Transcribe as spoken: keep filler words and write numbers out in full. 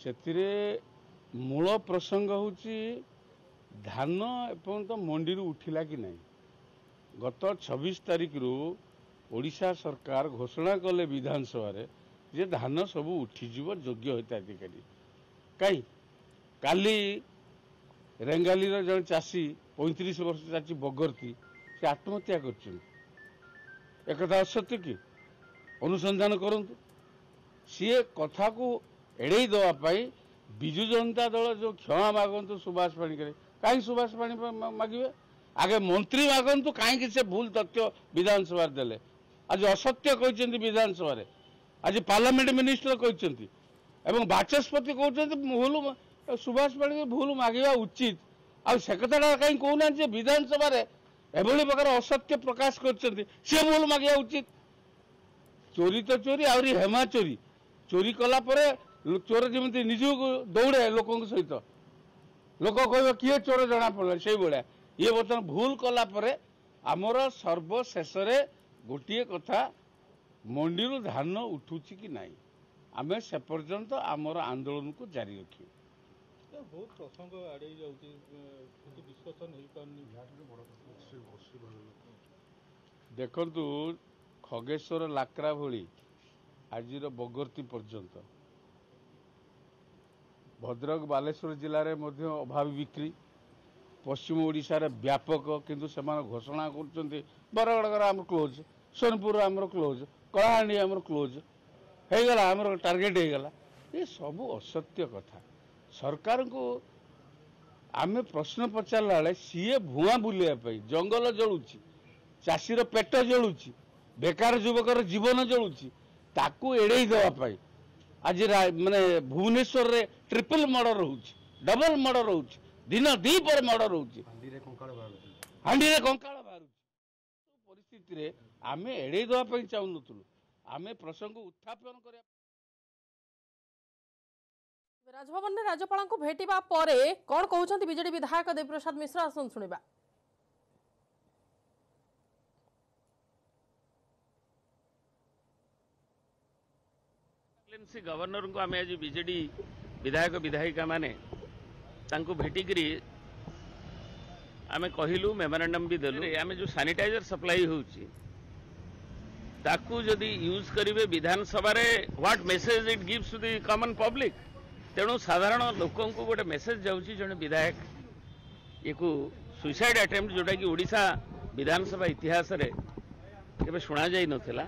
ସେଥିରେ ମୂଳ ପ୍ରସଙ୍ଗ ହେଉଛି ଧାନ ଏପର୍ଯ୍ୟନ୍ତ ମଣ୍ଡିରୁ ଉଠିଲା କି ନାହିଁ। ଗତ ଛବିଶ ତାରିଖରୁ ଓଡ଼ିଶା ସରକାର ଘୋଷଣା କଲେ ବିଧାନସଭାରେ ଯେ ଧାନ ସବୁ ଉଠିଯିବ ଯୋଗ୍ୟ ହିତାଧିକାରୀ। କାହିଁ କାଲି ରେଙ୍ଗାଲିର ଜଣେ ଚାଷୀ, ପଇଁତିରିଶ ବର୍ଷ ଚାଷୀ ବଗର୍ତ୍ତି, ସେ ଆତ୍ମହତ୍ୟା କରିଛନ୍ତି। ଏକଥା ଅସତ୍ୟ କି? ଅନୁସନ୍ଧାନ କରନ୍ତୁ। ସିଏ କଥାକୁ ଏଡ଼େଇ ଦେବା ପାଇଁ ବିଜୁ ଜନତା ଦଳ ଯେଉଁ କ୍ଷମା ମାଗନ୍ତୁ ସୁବାସ ପାଣିଗ୍ରାହୀ, କାହିଁକି ସୁବାସ ପାଣି ମାଗିବେ? ଆଗେ ମନ୍ତ୍ରୀ ମାଗନ୍ତୁ କାହିଁକି ସେ ଭୁଲ ତଥ୍ୟ ବିଧାନସଭାରେ ଦେଲେ। ଆଜି ଅସତ୍ୟ କହିଛନ୍ତି ବିଧାନସଭାରେ, ଆଜି ପାର୍ଲାମେଣ୍ଟ ମିନିଷ୍ଟର କହିଛନ୍ତି ଏବଂ ବାଚସ୍ପତି କହୁଛନ୍ତି ଭୁଲ, ସୁବାସ ପାଣିଗ୍ରାହୀ ଭୁଲ ମାଗିବା ଉଚିତ। ଆଉ ସେ କଥାଟା କାହିଁ କହୁନାହାନ୍ତି ଯେ ବିଧାନସଭାରେ ଏଭଳି ପ୍ରକାର ଅସତ୍ୟ ପ୍ରକାଶ କରିଛନ୍ତି, ସେ ଭୁଲ ମାଗିବା ଉଚିତ। ଚୋରି ତ ଚୋରି, ଆହୁରି ହେମା ଚୋରି। ଚୋରି କଲା ପରେ ଚୋର ଯେମିତି ନିଜକୁ ଦୌଡ଼େ ଲୋକଙ୍କ ସହିତ, ଲୋକ କହିବେ କିଏ ଚୋର ଜଣାପଡ଼ିଲା, ସେଇଭଳିଆ ଇଏ ବର୍ତ୍ତମାନ ଭୁଲ କଲା ପରେ ଆମର ସର୍ବଶେଷରେ ଗୋଟିଏ କଥା, ମଣ୍ଡିରୁ ଧାନ ଉଠୁଛି କି ନାହିଁ, ଆମେ ସେ ପର୍ଯ୍ୟନ୍ତ ଆମର ଆନ୍ଦୋଳନକୁ ଜାରି ରଖିବୁ। ବହୁତ ପ୍ରସଙ୍ଗ ଆଡ଼େଇ ଯାଉଛି, କିନ୍ତୁ ଡିସ୍କସନ୍ ହେଇପାରୁନି। ଦେଖନ୍ତୁ, ଖଗେଶ୍ୱର ଲାକ୍ରା ଭଳି ଆଜିର ବଗର୍ତ୍ତି ପର୍ଯ୍ୟନ୍ତ ଭଦ୍ରକ ବାଲେଶ୍ୱର ଜିଲ୍ଲାରେ ମଧ୍ୟ ଅଭାବୀ ବିକ୍ରି, ପଶ୍ଚିମ ଓଡ଼ିଶାରେ ବ୍ୟାପକ, କିନ୍ତୁ ସେମାନେ ଘୋଷଣା କରୁଛନ୍ତି ବରଗଡ଼ର ଆମର କ୍ଲୋଜ୍, ସୋନପୁର ଆମର କ୍ଲୋଜ୍, କଳାହାଣ୍ଡି ଆମର କ୍ଲୋଜ୍ ହେଇଗଲା, ଆମର ଟାର୍ଗେଟ୍ ହେଇଗଲା। ଏ ସବୁ ଅସତ୍ୟ କଥା। ସରକାରଙ୍କୁ ଆମେ ପ୍ରଶ୍ନ ପଚାରିଲା ବେଳେ ସିଏ ଭୁଆଁ ବୁଲିବା ପାଇଁ, ଜଙ୍ଗଲ ଜଳୁଛି, ଚାଷୀର ପେଟ ଜଳୁଛି, ବେକାର ଯୁବକର ଜୀବନ ଜଳୁଛି, ତାକୁ ଏଡ଼େଇ ଦେବା ପାଇଁ ଆଜି ମାନେ ଭୁବନେଶ୍ୱରରେ ଟ୍ରିପଲ୍ ମର୍ଡର ହେଉଛି, ଡବଲ ମର୍ଡର ହେଉଛି, ଦିନ ଦ୍ୱିପହରେ ମର୍ଡର ହେଉଛି, ହାଣ୍ଡିରେ କଙ୍କାଳ ବାହାରୁଛି। ପରିସ୍ଥିତିରେ ଆମେ ଏଡ଼େଇ ଦେବା ପାଇଁ ଚାହୁଁନଥିଲୁ, ଆମେ ପ୍ରସଙ୍ଗ ଉତ୍ଥାପନ କରିବା। ରାଜଭବନରେ ରାଜ୍ୟପାଳଙ୍କୁ ଭେଟିବା ପରେ କ'ଣ କହୁଛନ୍ତି ବିଜେଡି ବିଧାୟକ ଦେବପ୍ରସାଦ ମିଶ୍ର, ଆସନ୍ତୁ ଶୁଣିବା। ଗଭର୍ଣ୍ଣରଙ୍କୁ ଆମେ ଆଜି ବିଜେଡି ବିଧାୟକ ବିଧାୟିକା ମାନେ ତାଙ୍କୁ ଭେଟିକିରି ଆମେ କହିଲୁ, ମେମୋରାଣ୍ଡମ୍ ବି ଦେଲୁ। ଆମେ ଯେଉଁ ସାନିଟାଇଜର ସପ୍ଲାଇ ହେଉଛି ତାକୁ ଯଦି ୟୁଜ୍ କରିବେ ବିଧାନସଭାରେ, what message it gives to the common public? ତେଣୁ ସାଧାରଣ ଲୋକଙ୍କୁ ଗୋଟେ ମେସେଜ ଯାଉଛି ଜଣେ ବିଧାୟକ ୟାକୁ ସୁଇସାଇଡ୍ ଆଟେମ୍ପ୍ଟ, ଯେଉଁଟାକି ଓଡ଼ିଶା ବିଧାନସଭା ଇତିହାସରେ କେବେ ଶୁଣାଯାଇ ନଥିଲା।